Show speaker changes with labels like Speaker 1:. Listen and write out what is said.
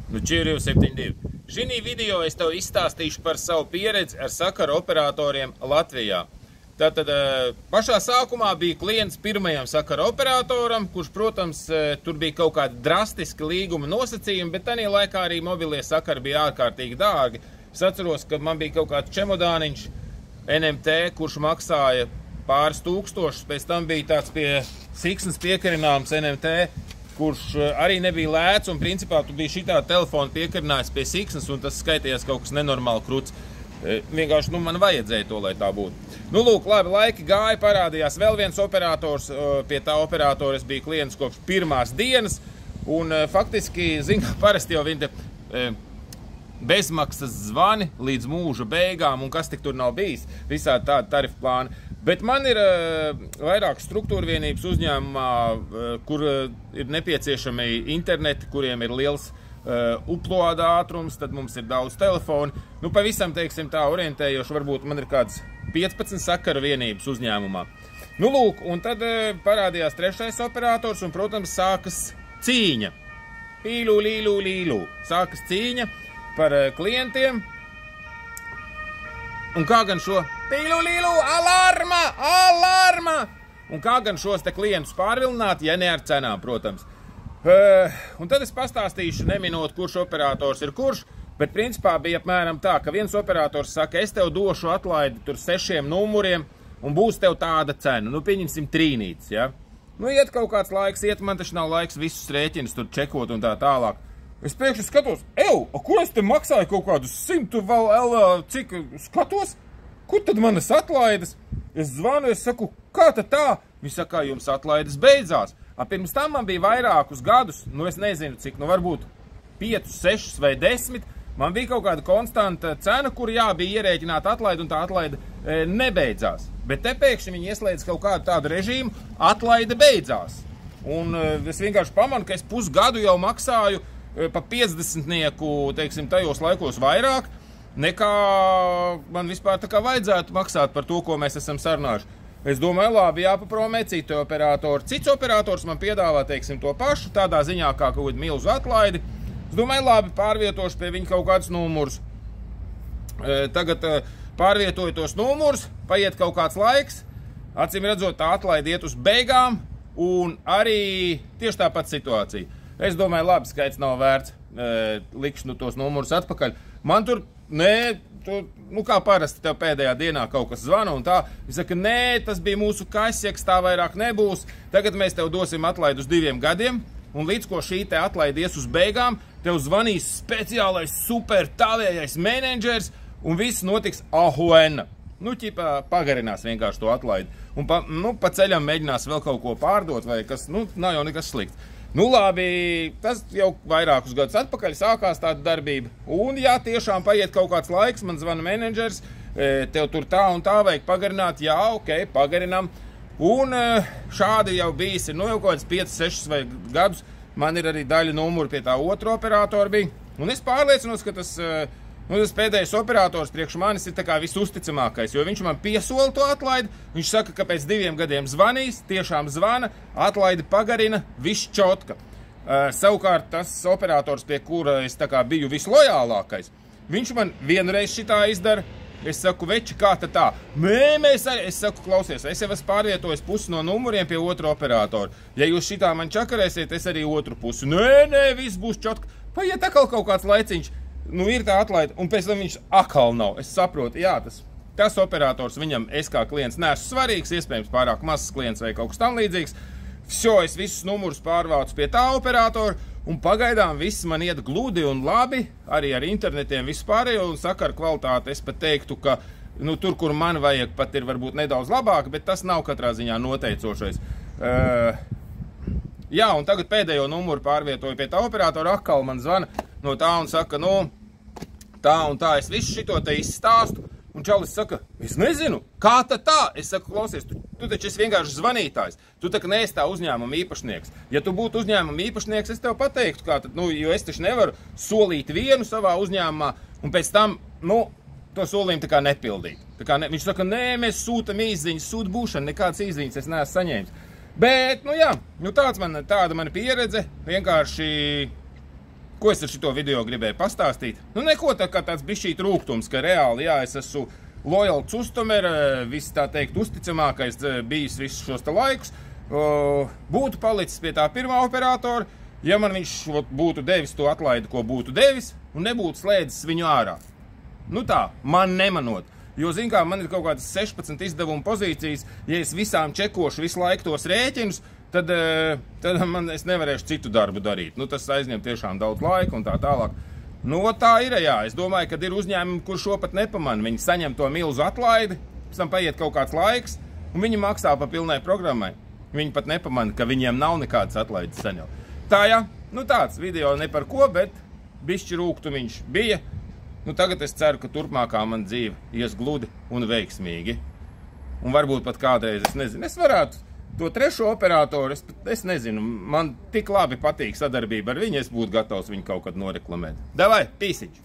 Speaker 1: Nu, Čirju 72. Šī video es tev izstāstīšu par savu pieredzi ar sakaru operatoriem Latvijā. Tātad pašā sākumā bija klients pirmajam sakaru operatoram, kurš, protams, tur bija kaut kādi drastiski līguma nosacījumi, bet tajā laikā arī mobilie sakari bija ārkārtīgi dārgi. Es atceros, ka man bija kaut kāds čemodāniņš NMT, kurš maksāja pāris tūkstošus, pēc tam bija tāds pie siksnas piekarināms NMT, kurš arī nebija lēts, un principā tu biji šitā telefona piekarinājis pie siksnas, un tas skaitījās kaut kas nenormāli kruts. Vienkārši, man vajadzēja to, lai tā būtu. Nu, lūk, labi, laiki gāja, parādījās vēl viens operators, pie tā operatora es biju klients kopš pirmās dienas, un faktiski, zinu, parasti jau viņi bezmaksas zvani līdz mūža beigām, un kas tik tur nav bijis, visādi tādi tarifu plāni. Bet man ir vairāk struktūra vienības uzņēmumā, kur ir nepieciešami interneti, kuriem ir liels uploada ātrums, tad mums ir daudz telefonu. Nu, pavisam, teiksim, tā orientējoši, varbūt man ir kāds 15 sakaru vienības uzņēmumā. Nu, lūk, un tad parādījās trešais operators, un, protams, sākas cīņa. Pīlū, līlū, līlū. Sākas cīņa par klientiem. Un kā gan šo pīlū, līlū, alarma, alarma! Un kā gan šos te klientus pārvilināt, ja ne ar cenām, protams. Un tad es pastāstīšu, neminot, kurš operators ir kurš, bet principā bija apmēram tā, ka viens operators saka, es tev došu atlaidi tur 6 numuriem un būs tev tāda cena. Nu, pieņemsim trīnītes, ja? Nu, iet kaut kāds laiks, man taču nav laiks visus rēķinus tur čekot un tā tālāk. Es pēkšņi skatos, ko es te maksāju kaut kādus 100 vēl, cik skatos? Kur tad manas atlaides? Es zvanu, es saku, kā tad tā? Viņi saka, jums atlaides beidzās. Pirms tam man bija vairākus gadus, nu es nezinu cik, nu varbūt 5, 6 vai 10, man bija kaut kāda konstanta cena, kur jā, bija ierēķināta atlaide, un tā atlaide nebeidzās. Bet te pēkšņi viņi ieslēdz kaut kādu tādu režīmu, atlaide beidzās. Un es vienkārši pamanu, ka es pusgadu jau maksāju pa 50-nieku, teiksim, tajos laikos vairāk, nekā man vispār tā kā vajadzētu maksāt par to, ko mēs esam sarunājuši. Es domāju, labi, jāpapromē citu operatoru. Cits operators man piedāvā, teiksim, to pašu, tādā ziņā kā kaut kādu milzu atlaidi. Es domāju, labi, pārvietošu pie viņa kaut kādus numurus. Tagad pārvietoju tos numurus, paiet kaut kāds laiks, acīm redzot, tā atlaidi iet uz beigām, un arī tieši tāpat situācija. Es domāju, labi, skaits nav vērts, likšu tos numurus atpakaļ. Man tur, nu kā parasti tev pēdējā dienā kaut kas zvana un tā, viņš saka, nē, tas bija mūsu kasjeks, tā vairāk nebūs, tagad mēs tev dosim atlaidi uz 2 gadiem, un līdz ko šī te atlaidi ies uz beigām, tev zvanīs speciālais super tavējais menedžers, un viss notiks ahuena. Nu, ķipā pagarinās vienkārši to atlaidi, un pa ceļam mēģinās vēl kaut ko pārdot, vai kas, nu, nav jau nekas slikts. Nu, labi, tas jau vairākus gadus atpakaļ sākās tāda darbība. Un, ja tiešām paiet kaut kāds laiks, man zvana menedžers, tev tur tā un tā vajag pagarināt, jā, ok, pagarinām. Un šādi jau bijis, nu jau kaut kāds 5, 6 gadus, man ir arī daļa numuru pie tā otru operatoru bija. Un es pārliecinos, ka tas pēdējais operators priekš manis ir tā kā visusticamākais, jo viņš man piesola to atlaidi, viņš saka, ka pēc 2 gadiem zvanīs, tiešām zvana, atlaidi pagarina, viss čotka. Savukārt tas operators, pie kura es tā kā biju vislojālākais, viņš man vienreiz šitā izdara, es saku, veči, kā tad tā? Es saku, klausies, es jau esmu pārvietojis pusi no numuriem pie otru operatoru. Ja jūs šitā man čakarēsiet, es arī otru pusi. Nē, viss būs čotka. Paiet atkal kaut kāds laiciņš. Nu, ir tā atlaide, un pēc tam viņš atkal nav. Es saprotu, jā, tas operators viņam, es kā klients neesmu svarīgs, iespējams pārāk mazs klients vai kaut kas tam līdzīgs. Es visus numurus pārvācu pie tā operatora, un pagaidām viss man iet gludi un labi, arī ar internetiem vispārējo, un sakaru kvalitāti es pat teiktu, ka nu, tur, kur man vajag, pat ir varbūt nedaudz labāk, bet tas nav katrā ziņā noteicošais. Jā, un tagad pēdējo numuru pārvietoju pie tā operatora, atkal man zvana no tā un saka, nu, tā un tā, es visu šito te izstāstu, un čalis saka, es nezinu, kā tad tā? Es saku, klausies, tu taču esi vienkārši zvanītājs, tu tā kā neesi tā uzņēmuma īpašnieks. Ja tu būtu uzņēmuma īpašnieks, es tev pateiktu, kā tad, nu, jo es taču nevaru solīt vienu savā uzņēmumā, un pēc tam, nu, to solījumu tā kā nepildīt. Tā kā viņš saka, nē, mēs sūtam īsziņas, sūta būšana, nekāds īsziņas es neesmu saņēmis. Bet, nu jā, nu tāda mana pieredze, vienkārši Ko es ar šito video gribēju pastāstīt? Nu, neko tā kā tāds bišķīt rūgtums, ka reāli, jā, es esmu lojals uztumer, viss tā teikt uzticamākais bijis visus šos laikus. Būtu palicis pie tā pirmā operatora, ja man viņš būtu devis to atlaidi, ko būtu devis, un nebūtu slēdzis viņu ārā. Nu tā, man nemanot. Jo, zin kā, man ir kaut kādas 16 izdevumu pozīcijas, ja es visām čekošu visu laiku tos rēķinus, tad es nevarēšu citu darbu darīt. Nu, tas aizņem tiešām daudz laika un tā tālāk. Nu, tā ir, jā. Es domāju, ka ir uzņēmumi, kur šo pat nepamana. Viņi saņem to milzu atlaidi, pēc tam paiet kaut kāds laiks, un viņi maksā pa pilnai programmai. Viņi pat nepamana, ka viņiem nav nekādas atlaides saņemt. Tā, jā, nu tāds video ne par ko, bet bišķi rūgtumiņš bija. Nu, tagad es ceru, ka turpmākā man dzīve ies gludi un veiksmīgi. Un varbūt pat kādreiz, es nezinu, es varētu to trešo operatoru, es nezinu, man tik labi patīk sadarbība ar viņu, es būtu gatavs viņu kaut kad noreklamēt. Davai, pīsiņš!